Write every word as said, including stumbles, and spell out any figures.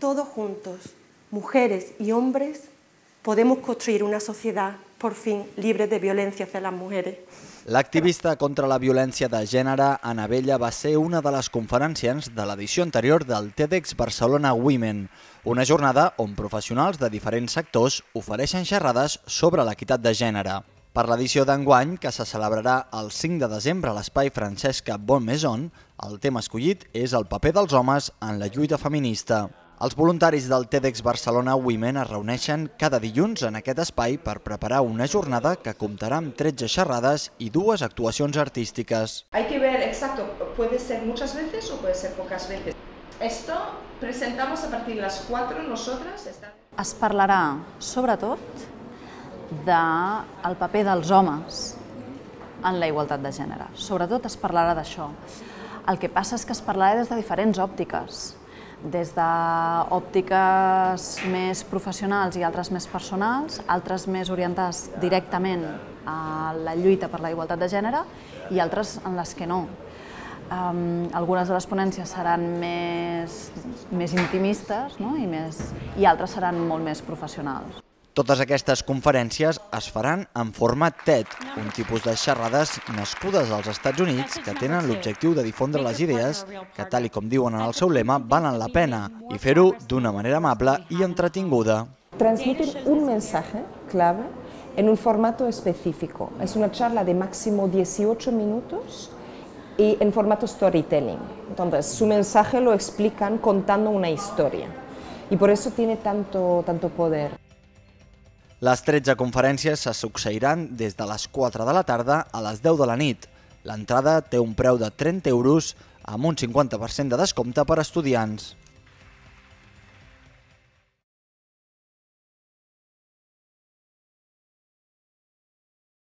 todos juntos, mujeres y hombres, podemos construir una sociedad, por fin, libre de violencia hacia las mujeres. L'activista contra la violència de gènere, Ana Bella, va ser una de les conferenciants de l'edició anterior del TEDx Barcelona Women, una jornada on professionals de diferents sectors ofereixen xerrades sobre l'equitat de gènere. Per l'edició d'enguany, que se celebrarà el cinc de desembre a l'espai Francesca Bonmaison, el tema escollit és el paper dels homes en la lluita feminista. Els voluntaris del TEDx Barcelona Women es reuneixen cada dilluns en aquest espai per preparar una jornada que comptarà amb tretze xerrades i dues actuacions artístiques. Hay que ver exacto, puede ser muchas veces o puede ser pocas veces. Esto presentamos a partir de las cuatro nosotras. Es parlarà, sobretot, del paper dels homes en la igualtat de gènere. Sobretot es parlarà d'això. El que passa és que es parlarà des de diferents òptiques, des d'òptiques més professionals i altres més personals, altres més orientades directament a la lluita per la igualtat de gènere i altres en les que no. Um, algunes de les ponències seran més, més intimistes, no? I, més, i altres seran molt més professionals. Totes aquestes conferències es faran en format TED, un tipus de xerrades nascudes als Estats Units que tenen l'objectiu de difondre les idees que, tal i com diuen en el seu lema, valen la pena i fer-ho d'una manera amable i entretinguda. Transmitir un mensaje clave en un formato específico. Es una charla de máximo dieciocho minutos y en formato storytelling. Entonces, su mensaje lo explican contando una historia y por eso tiene tanto, tanto poder. Les tretze conferències se succeiran des de les quatre de la tarda a les deu de la nit. L'entrada té un preu de trenta euros amb un cinquanta per cent de descompte per a estudiants.